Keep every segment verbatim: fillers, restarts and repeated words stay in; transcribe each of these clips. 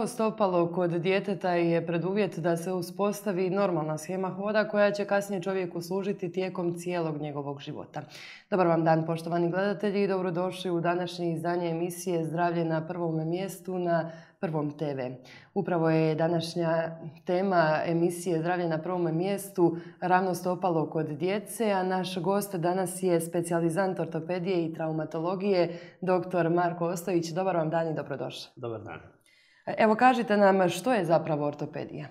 Zdravo stopalo kod djeteta je preduvjet da se uspostavi normalna shema hoda koja će kasnije čovjeku služiti tijekom cijelog njegovog života. Dobar vam dan, poštovani gledatelji, i dobrodošli u današnje izdanje emisije Zdravlje na prvom mjestu na Prvom te ve. Upravo je današnja tema emisije Zdravlje na prvom mjestu ravno stopalo kod djece, a naš gost danas je specijalizant ortopedije i traumatologije, doktor Marko Ostojić. Dobar vam dan i dobrodošli. Dobar dan. Evo, kažite nam što je zapravo ortopedija?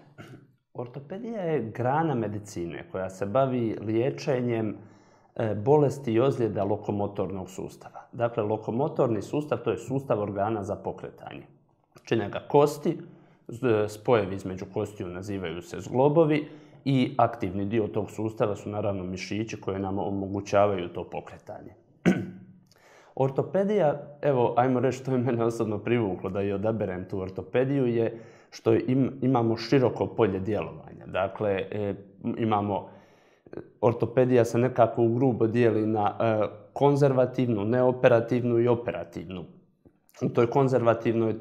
Ortopedija je grana medicine koja se bavi liječenjem bolesti i ozljeda lokomotornog sustava. Dakle, lokomotorni sustav to je sustav organa za pokretanje. Čine ga kosti, spojevi između kostiju nazivaju se zglobovi i aktivni dio tog sustava su naravno mišići koji nam omogućavaju to pokretanje. Ortopedija, evo, ajmo reći što je mene osobno privuklo da i odaberem tu ortopediju, je što im, imamo široko polje djelovanja. Dakle, e, imamo, ortopedija se nekako u grubo dijeli na e, konzervativnu, neoperativnu i operativnu. U toj konzervativnoj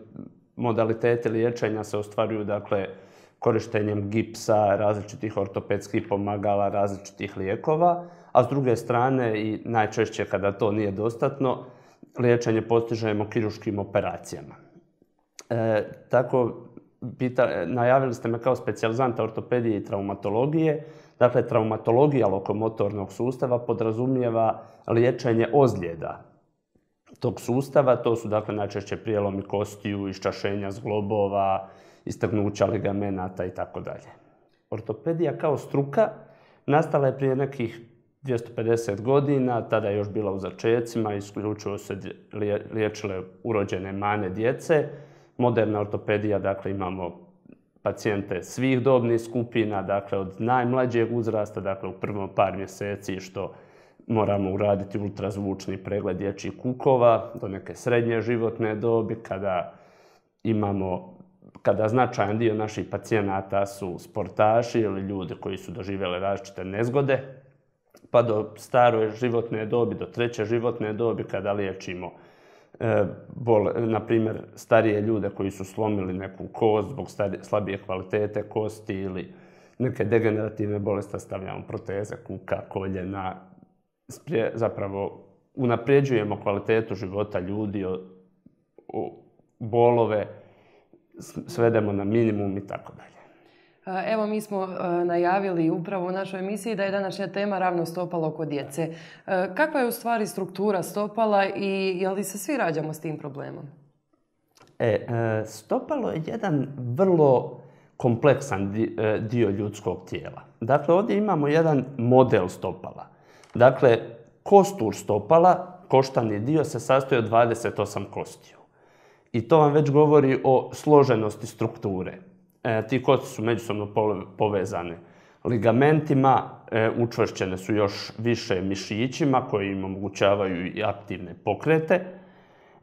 modaliteti liječenja se ostvaruju, dakle, korištenjem gipsa, različitih ortopedskih pomagala, različitih lijekova, a s druge strane, i najčešće kada to nije dostatno, liječenje postižemo kirurškim operacijama. E, tako, pita, najavili ste me kao specijalizanta ortopedije i traumatologije. Dakle, traumatologija lokomotornog sustava podrazumijeva liječenje ozljeda tog sustava. To su, dakle, najčešće prijelomi kostiju, iščašenja zglobova, istegnuća ligamenata i tako dalje. Ortopedija kao struka nastala je prije nekih dvjesto pedeset godina, tada je još bila u začecima, isključivo se liječile urođene mane djece. Moderna ortopedija, dakle, imamo pacijente svih dobnih skupina, dakle, od najmlađeg uzrasta, dakle, u prvom par mjeseci što moramo uraditi ultrazvučni pregled dječjih kukova, do neke srednje životne dobi, kada imamo kada značajan dio naših pacijenata su sportaši ili ljudi koji su doživjeli različite nezgode, pa do stare životne dobi, do treće životne dobi, kada liječimo, e, bol, na primjer, starije ljude koji su slomili neku kost zbog starije, slabije kvalitete kosti ili neke degenerativne bolesti, stavljamo proteze kuka, koljena. Sprije, zapravo unapređujemo kvalitetu života ljudi, o, o, bolove svedemo na minimum i tako dalje. Evo, mi smo najavili upravo u našoj emisiji da je današnja tema ravno stopalo kod djece. Kakva je u stvari struktura stopala i je li se svi rađamo s tim problemom? E, stopalo je jedan vrlo kompleksan dio ljudskog tijela. Dakle, ovdje imamo jedan model stopala. Dakle, kostur stopala, koštani dio, se sastoji od dvadeset osam kostiju. I to vam već govori o složenosti strukture. E, ti kosti su međusobno povezane ligamentima, e, učvršćene su još više mišićima koji im omogućavaju i aktivne pokrete.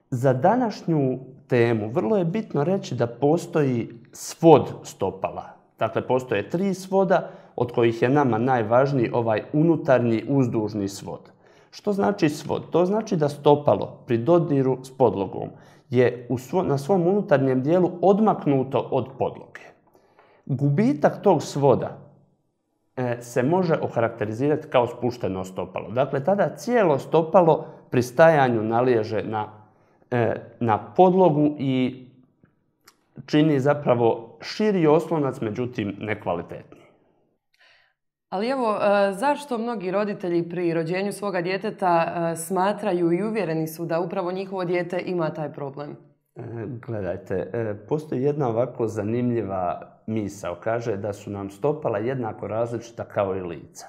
Za današnju temu vrlo je bitno reći da postoji svod stopala. Dakle, postoje tri svoda, od kojih je nama najvažniji ovaj unutarnji uzdužni svod. Što znači svod? To znači da stopalo pri dodiru s podlogom je u svo, na svom unutarnjem dijelu odmaknuto od podloge. Gubitak tog svoda e, se može okarakterizirati kao spušteno stopalo. Dakle, tada cijelo stopalo pri stajanju naliježe na, e, na podlogu i čini zapravo širi oslonac, međutim nekvalitetni. Ali evo, zašto mnogi roditelji pri rođenju svoga djeteta smatraju i uvjereni su da upravo njihovo dijete ima taj problem? Gledajte, postoji jedna ovako zanimljiva misao. Kaže da su nam stopala jednako različita kao i lica.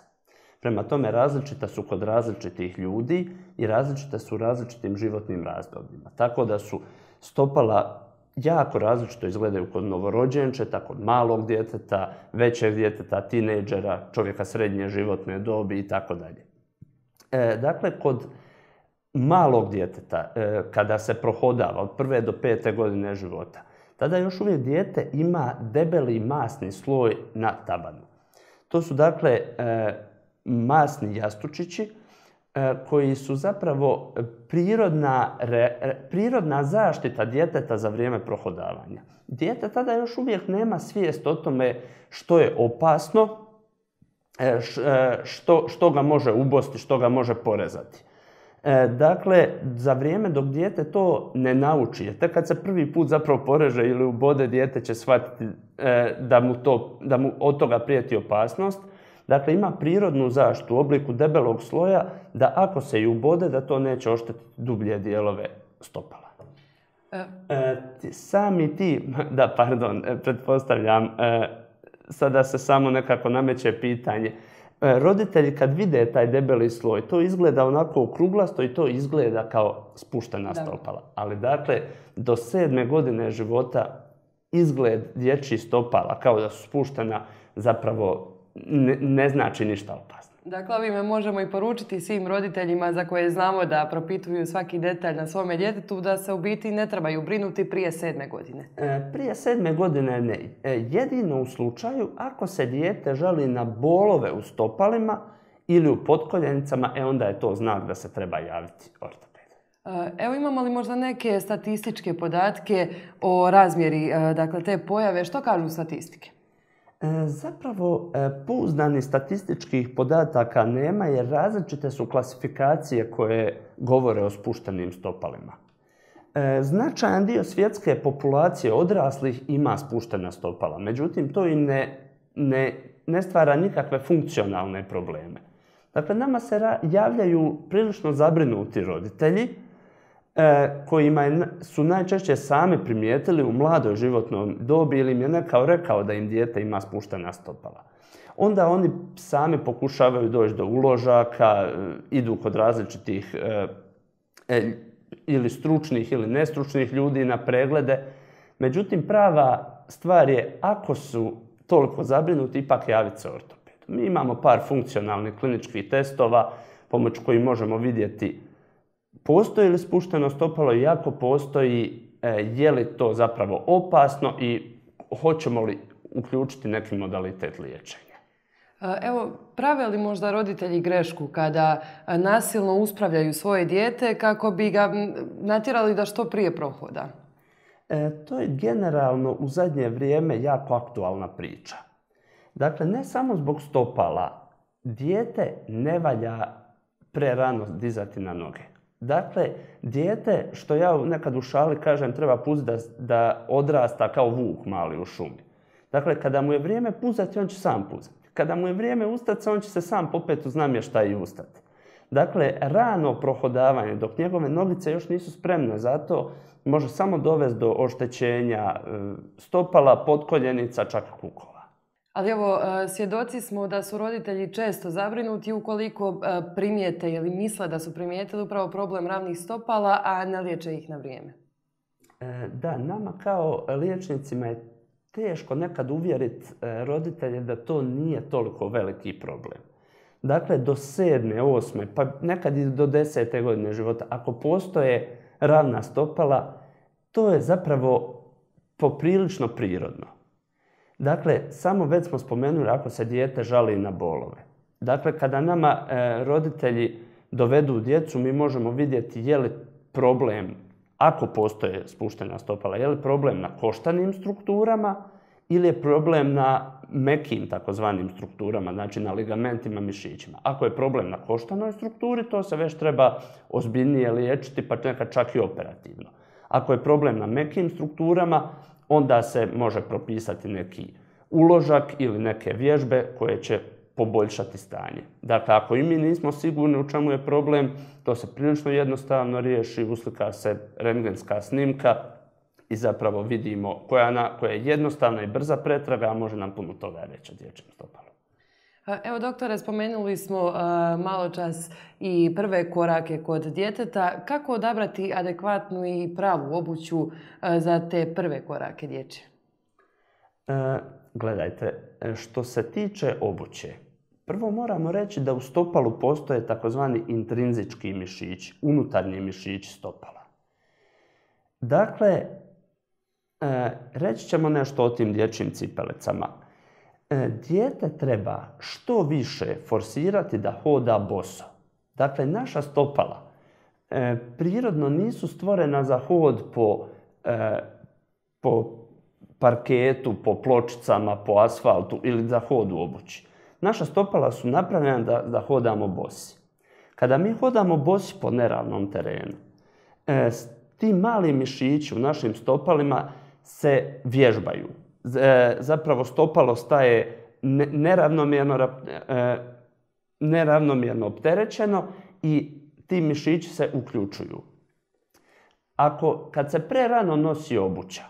Prema tome, različita su kod različitih ljudi i različita su u različitim životnim razdobljima. Tako da su stopala jako različito izgledaju kod novorođenčeta, kod malog djeteta, većeg djeteta, tinejdžera, čovjeka srednje životne dobi i tako dalje. Dakle, kod malog djeteta, e, kada se prohodava od prve do pete godine života, tada još uvijek dijete ima debeli masni sloj na tabanu. To su, dakle, e, masni jastučići koji su zapravo prirodna, prirodna zaštita djeteta za vrijeme prohodavanja. Dijete tada još uvijek nema svijest o tome što je opasno, što, što ga može ubosti, što ga može porezati. Dakle, za vrijeme dok dijete to ne nauči, jer tek kad se prvi put zapravo poreže ili ubode, dijete će shvatiti da mu, to, da mu od toga prijeti opasnost. Dakle, ima prirodnu zaštitu u obliku debelog sloja da ako se i ubode, da to neće oštetiti dublje dijelove stopala. E. E, sami ti, da pardon, pretpostavljam, e, sada se samo nekako nameće pitanje. E, roditelji kad vide taj debeli sloj, to izgleda onako okruglasto i to izgleda kao spuštena da. stopala. Ali dakle, do sedme godine života izgled dječjih stopala kao da su spuštena zapravo Ne, ne znači ništa opasno. Dakle, ovime možemo i poručiti svim roditeljima za koje znamo da propituju svaki detalj na svome djetetu da se u biti ne trebaju brinuti prije sedme godine. E, prije sedme godine ne. E, jedino u slučaju ako se dijete žali na bolove u stopalima ili u potkoljenicama, e onda je to znak da se treba javiti ortopedu. Evo, imamo li možda neke statističke podatke o razmjeri dakle, te pojave? Što kažu statistike? Zapravo, pouzdanih statističkih podataka nema jer različite su klasifikacije koje govore o spuštenim stopalima. Značajan dio svjetske populacije odraslih ima spuštena stopala, međutim to im ne, ne, ne stvara nikakve funkcionalne probleme. Dakle, nama se javljaju prilično zabrinuti roditelji kojima su najčešće sami primijetili u mladoj životnoj dobi ili im je nekao rekao da im dijete ima spuštena stopala. Onda oni sami pokušavaju doći do uložaka, idu kod različitih e, ili stručnih ili nestručnih ljudi na preglede. Međutim, prava stvar je ako su toliko zabrinuti, ipak javiti se ortopedu. Mi imamo par funkcionalnih kliničkih testova pomoću kojih možemo vidjeti postoji li spušteno stopalo i ako postoji, je li to zapravo opasno i hoćemo li uključiti neki modalitet liječenja. Evo, prave li možda roditelji grešku kada nasilno uspravljaju svoje dijete kako bi ga natjerali da što prije prohoda? E, to je generalno u zadnje vrijeme jako aktualna priča. Dakle, ne samo zbog stopala, dijete ne valja prerano dizati na noge. Dakle, dijete, što ja nekad u šali kažem, treba pustiti da, da odrasta kao vuk mali u šumi. Dakle, kada mu je vrijeme puzati, on će sam puzati. Kada mu je vrijeme ustati, on će se sam popet uz namještaj i ustati. Dakle, rano prohodavanje, dok njegove nogice još nisu spremne za to, može samo dovesti do oštećenja stopala, potkoljenica, čak kukova. Ali evo, svjedoci smo da su roditelji često zabrinuti ukoliko primijete ili misle da su primijetili upravo problem ravnih stopala, a ne liječe ih na vrijeme. Da, nama kao liječnicima je teško nekad uvjeriti roditelje da to nije toliko veliki problem. Dakle, do sedme, osme, pa nekad i do desete godine života, ako postoje ravna stopala, to je zapravo poprilično prirodno. Dakle, samo već smo spomenuli ako se dijete žali na bolove. Dakle, kada nama e, roditelji dovedu djecu, mi možemo vidjeti je li problem, ako postoje spuštena stopala, je li problem na koštanim strukturama ili je problem na mekim takozvanim strukturama, znači na ligamentima, mišićima. Ako je problem na koštanoj strukturi, to se već treba ozbiljnije liječiti, pa nekad čak i operativno. Ako je problem na mekim strukturama, onda se može propisati neki uložak ili neke vježbe koje će poboljšati stanje. Dakle, ako i mi nismo sigurni u čemu je problem, to se prilično jednostavno riješi, uslika se rentgenska snimka i zapravo vidimo koja, na, koja je jednostavna i brza pretraga, a može nam puno toga reći o dječjem stopalu. Evo, doktore, spomenuli smo uh, malo čas i prve korake kod djeteta. Kako odabrati adekvatnu i pravu obuću uh, za te prve korake dječje? E, gledajte, što se tiče obuće, prvo moramo reći da u stopalu postoje takozvani intrinzički mišići, unutarnji mišići stopala. Dakle, e, reći ćemo nešto o tim dječjim cipelicama. Dijete treba što više forsirati da hoda boso. Dakle, naša stopala e, prirodno nisu stvorena za hod po, e, po parketu, po pločicama, po asfaltu ili za hod u obući. Naša stopala su napravljena da, da hodamo bosi. Kada mi hodamo bosi po neravnom terenu, e, ti mali mišići u našim stopalima se vježbaju. E, zapravo stopalo staje neravnomjerno, e, neravnomjerno opterećeno i ti mišići se uključuju. Ako, kad se prerano nosi obuća,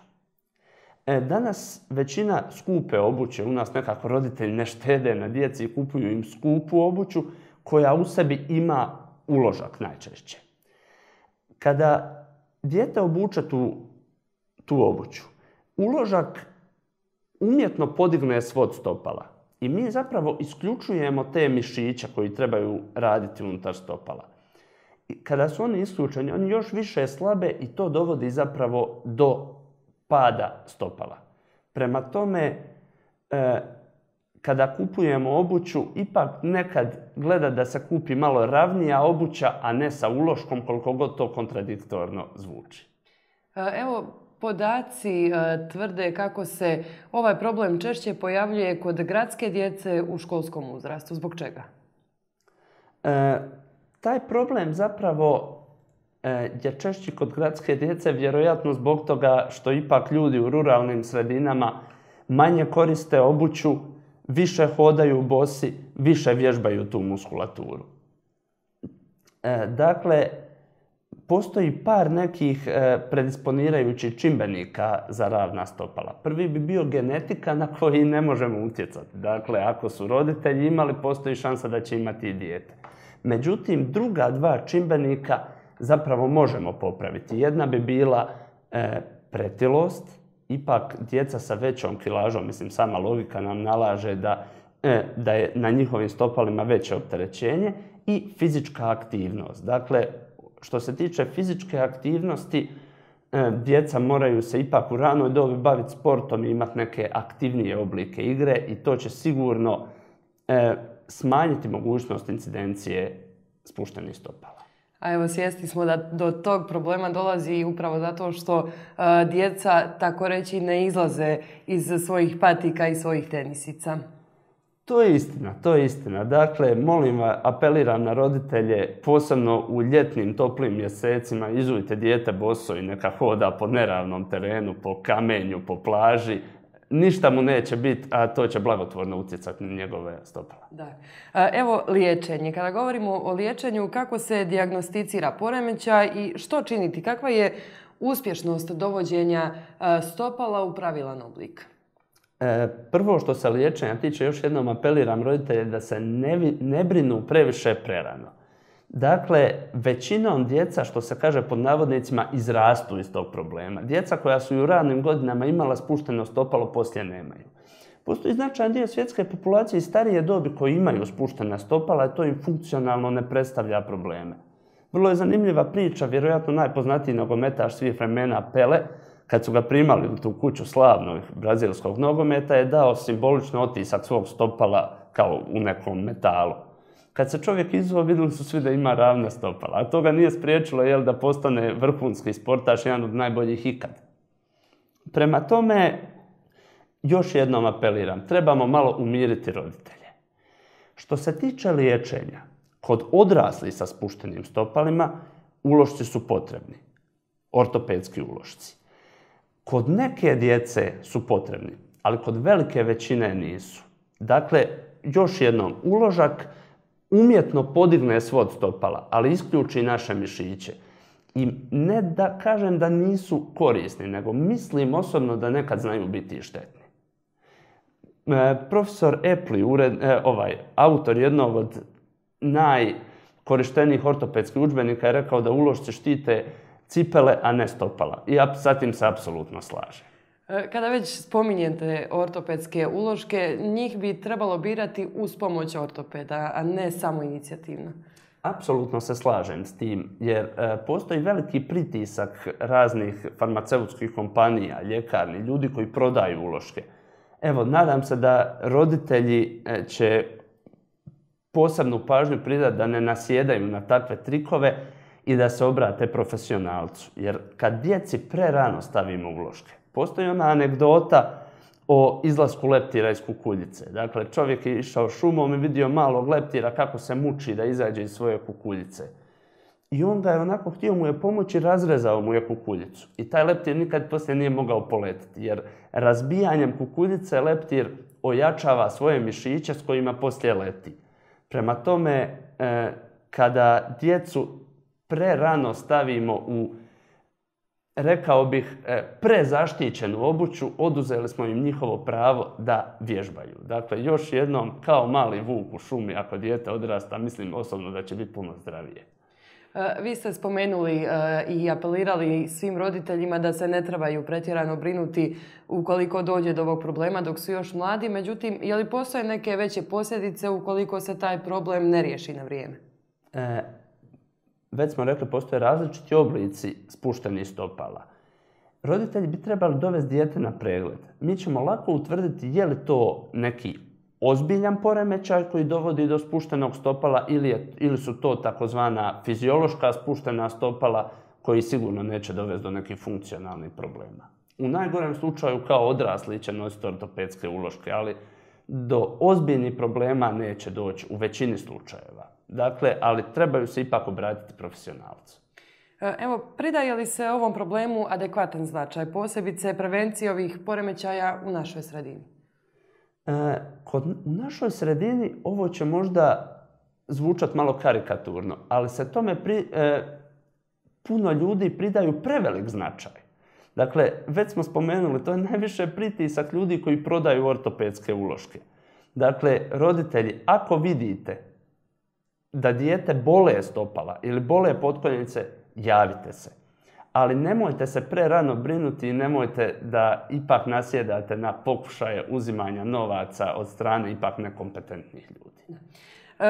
e, danas većina skupe obuće, u nas nekako roditelji ne štede na djeci i kupuju im skupu obuću koja u sebi ima uložak najčešće. Kada dijete obuče tu, tu obuću, uložak umjetno podigne svod stopala i mi zapravo isključujemo te mišiće koji trebaju raditi unutar stopala. I kada su oni isključeni, oni još više slabe i to dovodi zapravo do pada stopala. Prema tome, e, kada kupujemo obuću, ipak nekad gleda da se kupi malo ravnija obuća, a ne sa uloškom, koliko god to kontradiktorno zvuči. Evo, podaci tvrde kako se ovaj problem češće pojavljuje kod gradske djece u školskom uzrastu. Zbog čega? E, taj problem zapravo e, je češći kod gradske djece vjerojatno zbog toga što ipak ljudi u ruralnim sredinama manje koriste obuću, više hodaju bosi, više vježbaju tu muskulaturu. E, dakle, postoji par nekih e, predisponirajućih čimbenika za ravna stopala. Prvi bi bio genetika na koji ne možemo utjecati. Dakle, ako su roditelji imali, postoji šansa da će imati i dijete. Međutim, druga dva čimbenika zapravo možemo popraviti. Jedna bi bila e, pretilost. Ipak djeca sa većom kilažom, mislim sama logika nam nalaže da, e, da je na njihovim stopalima veće opterećenje i fizička aktivnost. Dakle, što se tiče fizičke aktivnosti, e, djeca moraju se ipak u ranoj dobi baviti sportom i imati neke aktivnije oblike igre i to će sigurno e, smanjiti mogućnost incidencije spuštenih stopala. A evo, svjesni smo da do tog problema dolazi upravo zato što uh, djeca, tako reći, ne izlaze iz svojih patika i svojih tenisica. To je istina, to je istina. Dakle, molim vas, apeliram na roditelje, posebno u ljetnim toplim mjesecima, izujte dijete boso i neka hoda po neravnom terenu, po kamenju, po plaži. Ništa mu neće biti, a to će blagotvorno utjecati na njegove stopala. Da. Evo, liječenje. Kada govorimo o liječenju, kako se dijagnosticira poremećaj i što činiti? Kakva je uspješnost dovođenja stopala u pravilan oblik? E, prvo što se liječenja tiče, još jednom apeliram roditelje da se ne, ne brinu previše prerano. Dakle, većinom djeca, što se kaže pod navodnicima, izrastu iz tog problema. Djeca koja su i u ranim godinama imala spušteno stopalo, poslije nemaju. Postoji značajan dio svjetske populacije i starije dobi koji imaju spuštena stopala i to im funkcionalno ne predstavlja probleme. Vrlo je zanimljiva priča, vjerojatno najpoznatiji nogometaš svih vremena Pele, kad su ga primali u tu kuću slavnog brazilskog nogometa, je dao simbolično otisak svog stopala kao u nekom metalu. Kad se čovjek izveo, vidjeli su svi da ima ravna stopala, a to ga nije spriječilo jel, da postane vrhunski sportaš, jedan od najboljih ikad. Prema tome, još jednom apeliram, trebamo malo umiriti roditelje. Što se tiče liječenja, kod odraslih sa spuštenim stopalima, ulošci su potrebni, ortopedski ulošci. Kod neke djece su potrebni, ali kod velike većine nisu. Dakle, još jednom, uložak umjetno podigne svod stopala, ali isključi naše mišiće. I ne da kažem da nisu korisni, nego mislim osobno da nekad znaju biti štetni. E, profesor Epli, ured, e, ovaj, autor jednog od najkorištenijih ortopedskih udžbenika, je rekao da ulošci štite cipele, a ne stopala. I ja sa tim se apsolutno slažem. Kada već spominjete ortopedske uloške, njih bi trebalo birati uz pomoć ortopeda, a ne samo inicijativno. Apsolutno se slažem s tim, jer e, postoji veliki pritisak raznih farmaceutskih kompanija, ljekarni, ljudi koji prodaju uloške. Evo, nadam se da roditelji e, će posebnu pažnju pridati da ne nasjedaju na takve trikove i da se obrate profesionalcu. Jer kad djeci prerano stavimo uloške, postoji ona anegdota o izlasku leptira iz kukuljice. Dakle, čovjek je išao šumom i vidio malog leptira kako se muči da izađe iz svoje kukuljice. I onda je onako htio mu je pomoći, razrezao mu je kukuljicu. I taj leptir nikad poslije nije mogao poletiti, jer razbijanjem kukuljice leptir ojačava svoje mišiće s kojima poslije leti. Prema tome, eh, kada djecu prerano stavimo u, rekao bih, eh, prezaštićenu obuću, oduzeli smo im njihovo pravo da vježbaju. Dakle, još jednom, kao mali vuk u šumi, ako dijete odrasta, mislim osobno da će biti puno zdravije. Vi ste spomenuli i apelirali svim roditeljima da se ne trebaju pretjerano brinuti ukoliko dođe do ovog problema dok su još mladi. Međutim, je li postoje neke veće posljedice ukoliko se taj problem ne riješi na vrijeme? E, već smo rekli, postoje različiti oblici spuštenih stopala. Roditelji bi trebali dovesti dijete na pregled. Mi ćemo lako utvrditi je li to neki ozbiljan poremećaj koji dovodi do spuštenog stopala ili, je, ili su to takozvana fiziološka spuštena stopala koji sigurno neće dovesti do nekih funkcionalnih problema. U najgorem slučaju kao odrasli će nositi ortopedske uloške, ali do ozbiljnih problema neće doći u većini slučajeva. Dakle, ali trebaju se ipak obratiti profesionalcu. Evo, pridaje li se ovom problemu adekvatan značaj, posebice prevencije ovih poremećaja u našoj sredini? E, kod, u našoj sredini ovo će možda zvučati malo karikaturno, ali se tome pri, e, puno ljudi pridaju prevelik značaj. Dakle, već smo spomenuli, to je najviše pritisak ljudi koji prodaju ortopedske uloške. Dakle, roditelji, ako vidite da dijete bole stopala ili bole potkoljenice, javite se. Ali nemojte se prerano brinuti i nemojte da ipak nasjedate na pokušaje uzimanja novaca od strane ipak nekompetentnih ljudi.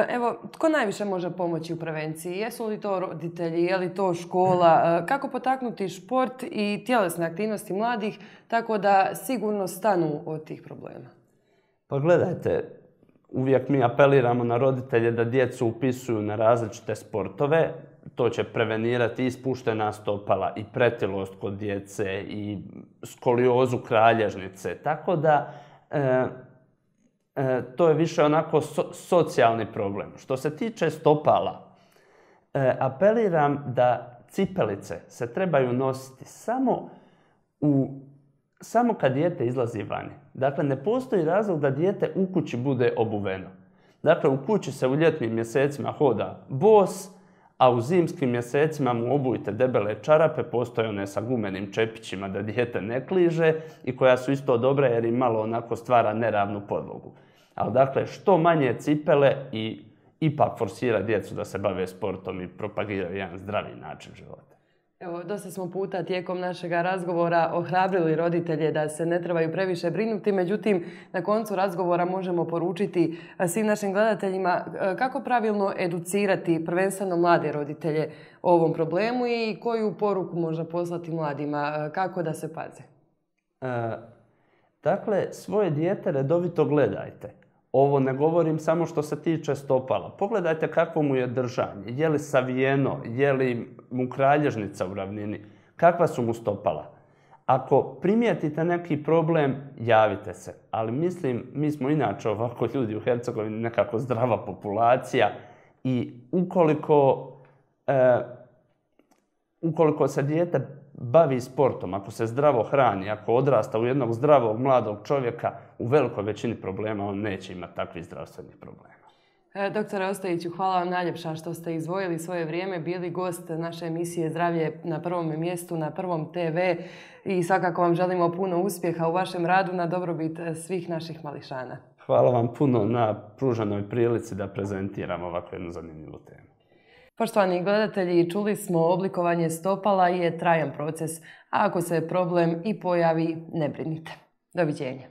Evo, tko najviše može pomoći u prevenciji? Jesu li to roditelji, je li to škola? Kako potaknuti šport i tjelesne aktivnosti mladih tako da sigurno stanu od tih problema? Pa gledajte, uvijek mi apeliramo na roditelje da djecu upisuju na različite sportove. To će prevenirati i spuštena stopala, i pretilost kod djece, i skoliozu kralježnice. Tako da e, e, to je više onako so, socijalni problem. Što se tiče stopala, e, apeliram da cipelice se trebaju nositi samo, u, samo kad dijete izlazi vani. Dakle, ne postoji razlog da dijete u kući bude obuveno. Dakle, u kući se u ljetnim mjesecima hoda bos, a u zimskim mjesecima mu obujte debele čarape, postoje one sa gumenim čepićima da dijete ne kliže i koja su isto dobra jer im malo onako stvara neravnu podlogu. Ali dakle, što manje cipele i ipak forsira djecu da se bave sportom i propagiraju jedan zdravi način života. Evo, dosta smo puta tijekom našeg razgovora ohrabrili roditelje da se ne trebaju previše brinuti, međutim, na koncu razgovora možemo poručiti svim našim gledateljima kako pravilno educirati prvenstveno mlade roditelje o ovom problemu i koju poruku možda poslati mladima, kako da se paze. E, dakle, svoje dijete redovito gledajte. Ovo ne govorim samo što se tiče stopala. Pogledajte kakvo mu je držanje. Je li savijeno, je li mu kralježnica u ravnini, kakva su mu stopala. Ako primijetite neki problem, javite se. Ali mislim, mi smo inače ovako ljudi u Hercegovini nekako zdrava populacija i ukoliko, e, ukoliko se dijete bavi sportom, ako se zdravo hrani, ako odrasta u jednog zdravog mladog čovjeka, u velikoj većini problema on neće imati takvih zdravstvenih problema. E, doktore Ostojiću, hvala vam najljepša što ste izdvojili svoje vrijeme, bili gost naše emisije Zdravlje na prvom mjestu, na Prvom te ve i svakako vam želimo puno uspjeha u vašem radu na dobrobit svih naših mališana. Hvala vam puno na pruženoj prilici da prezentiramo ovakvu jednu zanimljivu temu. Poštovani gledatelji, čuli smo oblikovanje stopala je trajan proces, a ako se problem i pojavi, ne brinite. Doviđenja.